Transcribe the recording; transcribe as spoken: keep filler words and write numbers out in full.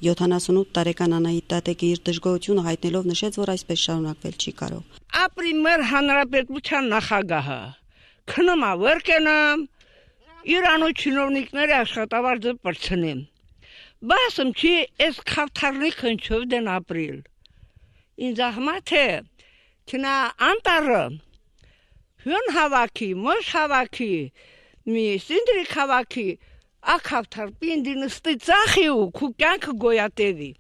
յոթանասունութ տարեկան Անահիտ Տատեկը իր դժգոհությունը հայտնելով նշեց, որ այսպես շարունակվել չի կարող։ Ապրի մեր հանրապետության նախագահը քնում է վեր կենամ, իրանու չինովնիկները աշխատավարձը պրցնեմ։ Բասım ki es kavtarlı kınçövden april. İnzahmate kina antarı hün havaki, moş havaki, mi sindrik havaki, a kavtar bindin ıstı zahiu, kukank goyatevi.